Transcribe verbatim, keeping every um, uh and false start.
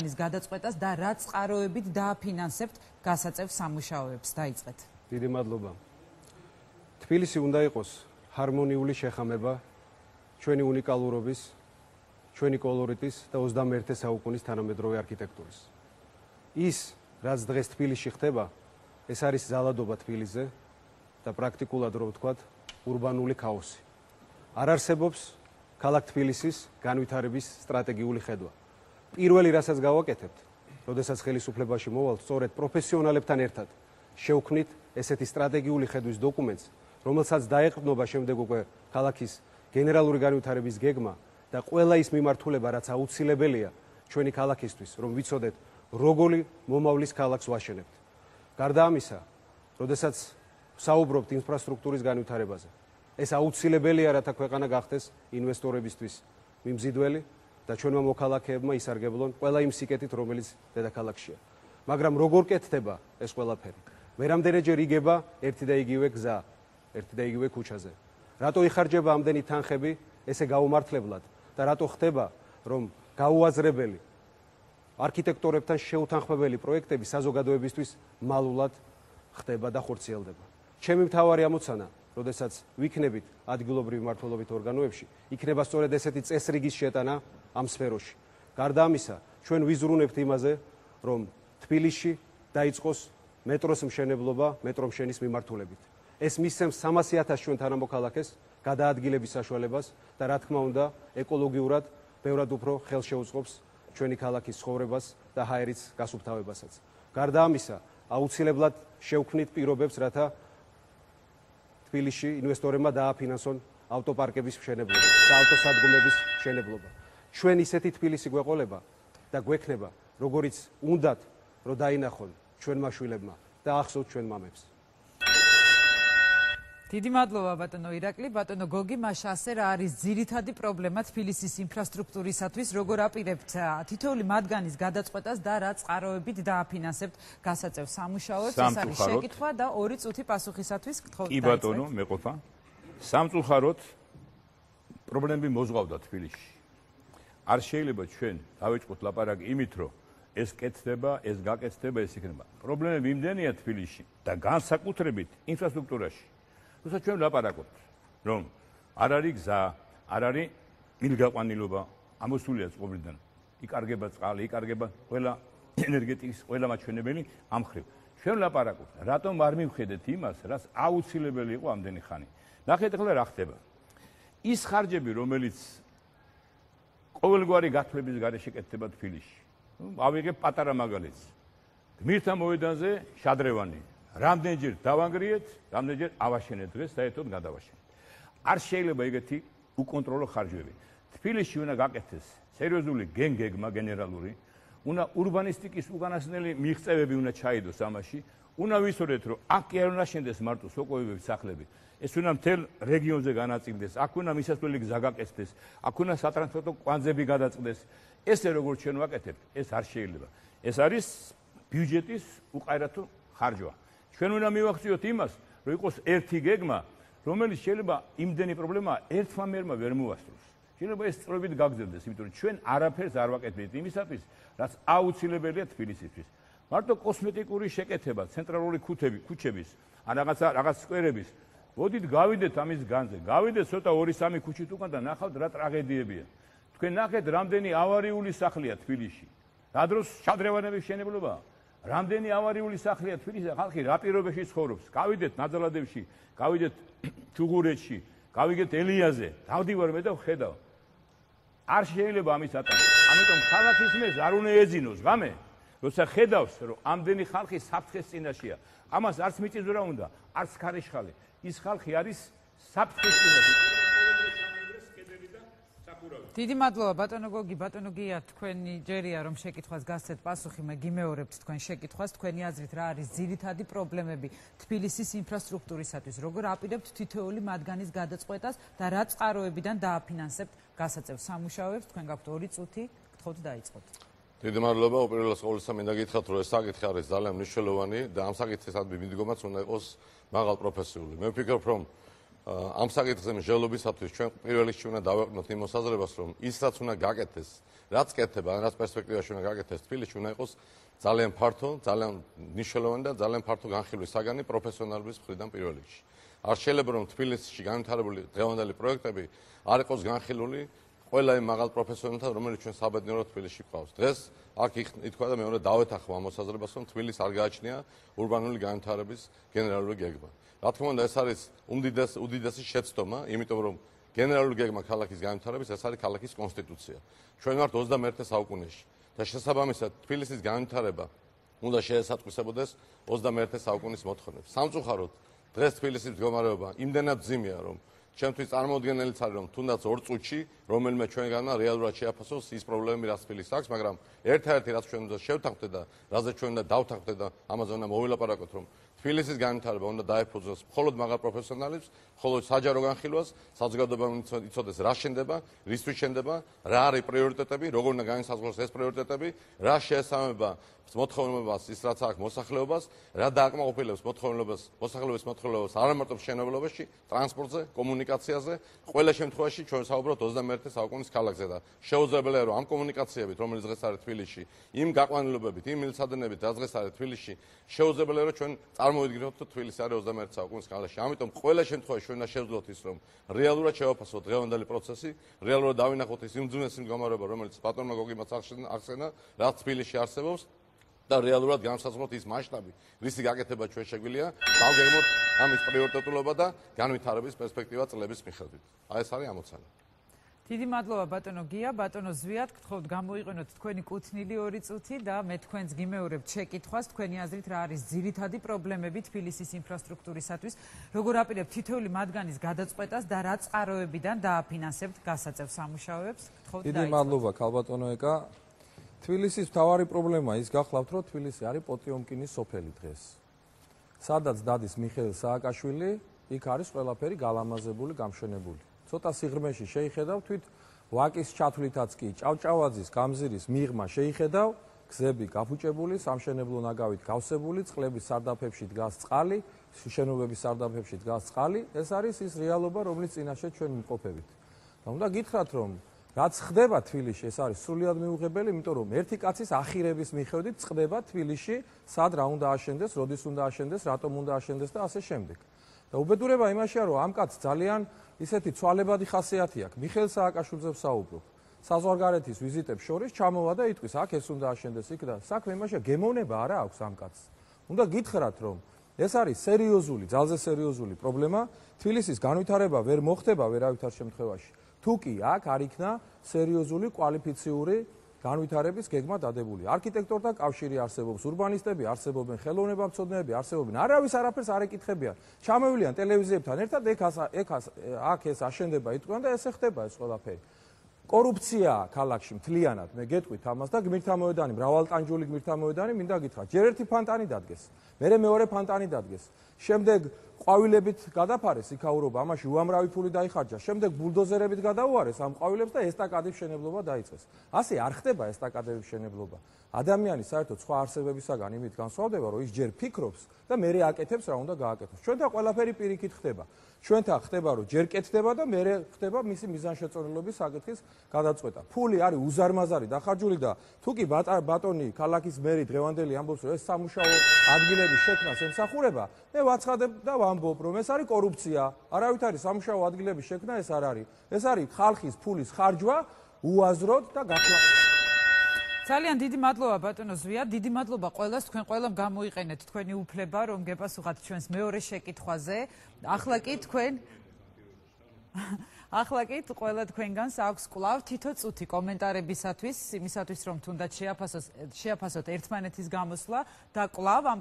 მათგანის გადაწყვეტას და რა წყაროებით დააფინანსებთ გასაწევ სამუშაოებს. დაიწყეთ. დიდი მადლობა. თბილისი უნდა იყოს ჰარმონიული შეხამება ჩვენი უნიკალურობის, ჩვენი კოლორიტის და ოცდამეერთე საუკუნის თანამედროვე არქიტექტურის. ის, რაც დღეს თბილისში ხდება, ეს არის ზალადობა თბილისზე და პრაქტიკულად რო ვთქვათ, ურბანული ქაოსი. არ არსებობს ქალაქ თბილისის განვითარების სტრატეგიული ხედვა. პირველი, რასაც გავაკეთებთ, როდესაც ხელისუფლებაში მოვალთ, სწორედ პროფესიონალებთან ერთად შევქმნით ესეთი სტრატეგიული ხედვის დოკუმენტს, რომელსაც დაეყრდნობა შემდეგ უკვე ქალაქის გენერალური განვითარების გეგმა და ყველა ის მიმართულება, რაც აუცილებელია ჩვენი ქალაქისთვის, რომ ვიცოდეთ, როგორი მომავლის ქალაქს ვაშენებთ. გარდა ამისა, როდესაც საუბრობთ ინფრასტრუქტურის განვითარებაზე, ეს აუცილებელია, რათა ქვეყანა გახდეს ინვესტორებისთვის მიმზიდველი და ჩვენმა მოქალაქეებმა ისარგებლონ ყველა იმ სიკეთით, რომელიც დედაქალაქშია. მაგრამ როგორ კეთდება ეს ყველაფერი? მერამდენეჯერ იგება ერთი და იგივე გზა, ერთი და იგივე ქუჩაზე. რატო იხარჯება ამდენი თანხები ესე გაუმართლებლად და რატო ხდება, რომ გაუაზრებელი არქიტექტორებთან შეუთანხმებელი პროექტები საზოგადოებისთვის მალულად ხდება და ხორციელდება. ჩემი მთავარი ამოცანა, როდესაც ვიქნებით ადგილობრივი მმართველობით ორგანოებში, იქნება სწორედ ესეთი წესრიგის შეტანა ამ სფეროში. გარდა ამისა, ჩვენ ვიზრუნებთ იმაზე, რომ თბილისში დაიწყოს მეტროს მშენებლობა მეტრომშენის მიმართულებით. ეს მისცემს სამასი ათას ჩვენ თანამოქალაქეს გადაადგილების საშუალებას და რა თქმა უნდა, ეკოლოგიურად ბევრად უფრო ხელშეუწყობს ჩვენი ქალაქის ცხოვრებას და ჰაერის გასუფთავებასაც. გარდა ამისა, აუცილებლად შევქმნით პირობებს, რათა თბილისში ინვესტორებმა დააფინანსონ ავტოპარკების მშენებლობა და ავტოსადგომების მშენებლობა. ჩვენ ისეთი თბილისი გვეყოლება და გვექნება, როგორიც უნდათ, რომ დაინახონ ჩვენმა შვილებმა და ახსოვთ ჩვენ მამებს. დიდი მადლობა ბატონო ირაკლი. ბატონო გოგი, მაშა ასე რა არის ძირითადი პრობლემა თბილისის ინფრასტრუქტურისათვის, როგორ აპირებთ თითოეული მათგანის გადაწყვეტას და რა წყაროებით დააფინანსებთ გასაწევ სამუშაოებს? ეს არის შეკითხვა და ორი წუთი პასუხისათვის გთხოვთ. კი ბატონო, მეყოფა. სამწუხაროდ პრობლემები მოზღვავდა თბილისში. არ შეიძლება ჩვენ დავიწყოთ ლაპარაკი იმით, რომ ეს კეთდება, ეს გაკეთდება, ეს იქნება. პრობლემები იმდენია თბილისში და განსაკუთრებით ინფრასტრუქტურაში. თუმცა ჩვენ ვლაპარაკობთ, რომ არ არის გზა, არ არის მილგაყვანილობა, ამოსულია წყობრიდან. იკარგება წყალი, იკარგება ყველა ენერგეტიკის, ყველა მაჩვენებელი ამ ხრივ. ჩვენ ვლაპარაკობთ, რატომ არ მივხედეთ იმას, რაც აუცილებელი იყო ამდენი ხანი. ნახეთ ახლა რა ხდება. ის ხარჯები, რომელიც ყოველგვარი გათვლების გარეშე კეთდება თბილისში. ავიღებ პატარა მაგალითს. გმირთა მოედანზე შადრევანი. რამდენჯერ დავანგრიეთ, რამდენჯერ ავაშენეთ დღეს საერთოდ გადავაშენეთ. არ შეიძლება ეგეთი უკონტროლო ხარჯები. თბილისში უნდა გაკეთდეს სერიოზული გენგეგმა გენერალური, უნდა ურბანისტიკის უკანასკნელი მიღწევები უნდა ჩაიდოს ამაში, უნდა ვისურვეთ, რომ აქ კი არ უნდა შენდეს მარტო სოკოებების სახლები. ეს უნდა მთელ რეგიონზე განაწილდეს, აქ უნდა მისასვლელი გზა გაკეთდეს, აქ უნდა სატრანსპორტო კვანძები გადაწყდეს. ესე როგორც ჩვენ ვაკეთებთ, ეს არ შეიძლება. ეს არის ბიუჯეტის უყარათო ხარჯვა. ჩვენ უნდა მივახციოთ იმას, რომ იყოს ერთი გეგმა, რომელიც შეიძლება იმდენი პრობლემა ერთმა მერმა ვერ მოასწროს. შეიძლება ეს სწორებით გაგრძელდეს, იმიტომ რომ ჩვენ არაფერს არ ვაკეთებთ იმისათვის, რაც აუცილებელია თბილისისთვის. მარტო კოსმეტიკური შეკეთება, ცენტრალური ქუთები, ქუჩების, ან რაღაცა რაღაც სკვერების. მოდით გავიდეთ ამის განზე. გავიდეთ ცოტა ორი სამი ქუჩით უკან და ნახავთ რა ტრაგედიებია. თქვენ ნახეთ, რამდენი ავარიული სახლია თბილისში. რა დროს შადრევანების მშენებლობაა? რამდენი ავარიული სახლია თბილისში, ხალხი რა პირობებში ცხოვრობს. გავიდეთ ნაძალადევში, გავიდეთ ჩუღურეთში, გავიგეთ ელიაზე, დავდივარ მე და ვხედავ. არ შეიძლება ამის ატარება. ამიტომ ქალაქის მერს არ უნდა ეძინოს ღამე, როცა ხედავს, რომ ამდენი ხალხი საფრთხეს წინაშეა. ამას არც მიწისძვრა უნდა, არც ქარიშხალი. ის ხალხი არის საფრთხის წინაშე. დიდი მადლობა ბატონო გოგი, ბატონო გია, თქვენი ჯერია რომ შეკითხვას გასცეთ პასუხი, მე გიმეორებთ თქვენ შეკითხვას, თქვენი აზრით რა არის ძირითადი პრობლემები თბილისის ინფრასტრუქტურისათვის, როგორ აპირებთ თითოეული მათგანის გადაწყვეტას და რა წყაროებიდან დააფინანსებთ გასაწევ სამუშაოებს, თქვენ გაქვთ ორი წუთი, გთხოვთ დაიწყოთ. დიდი მადლობა, უპირველეს ყოვლისა მინდა გითხრათ, რომ ეს საკითხი არის ძალიან მნიშვნელოვანი და ამ საკითხისადმი მიდგომაც უნდა იყოს მაღალპროფესიული. მე ვფიქრობ, რომ ამ საკითხზე მსჯელობისათვის ჩვენ პირველ რიგში უნდა დავეყნოთ იმ მოსაზრებას, რომ ის რაც უნდა გაკეთდეს, რაც კეთდება, ან რაც პერსპექტივაში უნდა გაკეთდეს, თბილისში უნდა იყოს ძალიან ფართო, ძალიან მნიშვნელოვანი და ძალიან ფართო განხილვის საგანი პროფესიონალების მხრიდან პირველ რიგში. არ შეიძლება რომ თბილისში განვითარებული დღევანდელი პროექტები არ იყოს განხილული ყველა იმ მაღალ პროფესიონალთან, რომელიც ჩვენ საბედნიეროდ თბილისში გვყავს. დღეს აქ ითქვა და მე უნდა დავეთანხმო ამ მოსაზრებას, რომ თბილისს არ გააჩნია ურბანული განვითარების გენერალური გეგმა. რა თქმა უნდა, ეს არის უმდიდესი უდიდესი შეცდომა, იმიტომ რომ გენერალური გეგმა ქალაქის განვითარების ეს არის ქალაქის კონსტიტუცია. ჩვენ ვართ ოცდამეერთე საუკუნეში და შესაბამისად თბილისის განვითარება უნდა შეესატყვისებოდეს ოცდამეერთე საუკუნის მოთხოვნებს. სამწუხაროდ დღეს თბილისის მდგომარეობა იმდენად ძიმეა, რომ ჩემთვის წარმოუდგენელიც არის, რომ თუნდაც ორ წუთში რომელიმე ჩვენგანმა რეალურად შეაფასოს ის პრობლემები, რაც თბილისს აქვს, მაგრამ ერთ-ერთი რაც ჩვენ უნდა შევთანხმდეთ და რაზეც ჩვენ უნდა დავთანხმდეთ და ამაზე უნდა მოვილაპარაკოთ, რომ თბილისის განვითარება უნდა დაეფუძნოს მხოლოდ მაღალ პროფესიონალებს, მხოლოდ საჯარო განხილვას, საზოგადოებამ იცოდეს რა შენდება, რისთვის შენდება, რა არის პრიორიტეტები, როგორ უნდა განისაზღვროს ეს პრიორიტეტები, რა შეესაბამება მოთხოვნილებას, ის რაც აქვს მოსახლეობას, რა დააკმაყოფილებს მოთხოვნილებას, მოსახლეობის მოთხოვნილებას არა მარტო მშენებლობაში, ტრანსპორტზე, კომუნიკაციაზე, ყველა შემთხვევაში ჩვენ საუბრობთ ოცდამეერთე საუკუნის ქალაქზე და შეუძლებელია რომ ამ კომუნიკაციებით, რომელიც დღეს არის თბილისში, იმ გაყვანილობებით, იმ მილსადენებით, რაც დღეს არის თბილისში, შეუძლებელია რომ ჩვენ წარმოვიდგინოთ, რომ თბილისი არის ოცდამეერთე საუკუნის ქალაქი. ამიტომ ყველა შემთხვევაში ჩვენ უნდა შევძლოთ ის, რომ რეალურად შევაფასოთ დღევანდელი პროცესი, რეალურად დავინახოთ ის იმ ძუნეს მდგომარეობა, რომელიც ბატონმა გოგიმაც ახსენა, რაც თბილისში არსებობს. და რეალურად განსაზღვროთ ის მასშტაბი, რისი გაკეთება ჩვენ შეგვიძლია, დავგეგმოთ ამის პრიორიტეტულობა და განვითარების პერსპექტივა წლების მიხედვით. აი ეს არის ამოცანა. დიდი მადლობა ბატონო გია, ბატონო ზვიად, გთხოვთ გამოიყენოთ თქვენი კუთვნილი ორი წუთი და მე თქვენს გიმეორებთ შეკითხვას, თქვენი აზრით რა არის ძირითადი პრობლემები თბილისის ინფრასტრუქტურისათვის, როგორ აპირებთ თითოეული მათგანის გადაწყვეტას და რა წყაროებიდან დააფინანსებთ გასაწევ სამუშაოებს. გთხოვთ დიდი მადლობა ქალბატონო ეკა. თბილისის მთავარი პრობლემა ის გახლავთ, რომ თბილისი არის პოტიომკინის სოფელი დღეს. სადაც დადის მიხეილ სააკაშვილი, იქ არის ყველაფერი გალამაზებული, გამშვენებული. ცოტა სიღრმეში შეიხედავ თვით ვაკის ჩათვლითაც კი ჭავჭავაძის გამზირის მიღმა შეიხედავ, გზები გაფუჭებული, სამშენებლო ნაგავით გავსებული, წყლების სარდაფებში დგას წყალი, შენობების სარდაფებში დგას წყალი, ეს არის ის რეალობა, რომლის წინაშე ჩვენ ვიმყოფებით. და უნდა გითხრათ, რომ რაც ხდება თბილისში, ეს არის სრულიად მიუღებელი, იმიტომ რომ ერთი კაცის ახირების მიხედვით წყდება თბილისში, სად რა უნდა აშენდეს, როდის უნდა აშენდეს, რატომ უნდა აშენდეს და ასე შემდეგ. და უბედურება იმაშია, რომ ამ კაცს ძალიან ისეთი ცვალებადი ხასიათი აქვს. მიხეილ სააკაშვილზე ვსაუბრობ. საზღვარგარეთის ვიზიტებს შორის ჩამოვა და იტყვის, აქ ეს უნდა აშენდეს, იქ და საქმე იმაშია, გემოვნება არა აქვს ამ კაცს. უნდა გითხრათ, რომ ეს არის სერიოზული, ძალზე სერიოზული პრობლემა. თბილისის განვითარება ვერ მოხდება ვერავითარ შემთხვევაში. თუ კი აქ არ იქნა სერიოზული კვალიფიციური განვითარების გეგმა დადებული. არქიტექტორთა კავშირი არსებობს, ურბანისტები არსებობენ, ხელოვნებამცოდნეები არსებობენ. არავის არაფერს არ ეკითხებიან. ჩამოვიდნენ ტელევიზიებთან ერთად, ეგ აქ ეს აშენდება იტყვიან და ესე ხდება ეს ყველაფერი. კორუფცია ქალაქში მთლიანად, მე გეტყვით ამას და გმირთა მოედანი, მრავალტანჯული გმირთა მოედანი, მინდა გითხრათ, ჯერ ერთი ფანტანი დადგეს, მერე მეორე ფანტანი დადგეს. შემდეგ ყვავილებით გადაფარეს იქაურობა, ამაში უამრავი ფული დაიხარჯა. შემდეგ ბულდოზერებით გადაუარეს ამ ყვავილებს და ესტაკადების მშენებლობა დაიწყეს. ასე არ ხდება ესტაკადების მშენებლობა. ადამიანი საერთოდ სხვა არსებებისაგან იმით განსხვავდება, რომ ის ჯერ ფიქრობს და მერე აკეთებს რა უნდა გააკეთოს. ჩვენთან ყველაფერი პირიქით ხდება. ჩვენთან ხდება, რომ ჯერ კეთდება და მერე ხდება მისი მიზანშეწონილობის საკითხის გადაწყვეტა. ფული არის უზარმაზარი დახარჯული და თუ კი ბატონი ქალაქის მერი დღევანდელი ამბობს, რომ ეს სამუშაო ადგილების შექმნას ემსახურება, მე ვაცხადებ და ვამბობ, რომ ეს არის კორუფცია. არავით არის სამუშაო ადგილების შექმნა, ეს არ არის. ეს არის ხალხის ფულის ხარჯვა უაზროდ და გაქლა. ძალიან დიდი მადლობა ბატონო ზვია, დიდი მადლობა ყველას, თქვენ ყველამ გამოიყენეთ თქვენი უფლება, რომ გეპასუხათ ჩვენს მეორე შეკითხვაზე. ახლა კი თქვენ ახლა კი ყველა თქვენგანს აქვს კვლავ თითო წუთი კომენტარებისათვის, იმისათვის რომ თუნდაც შეაფასოს შეაფასოთ ერთმანეთის გამოსვლა და კვლავ ამ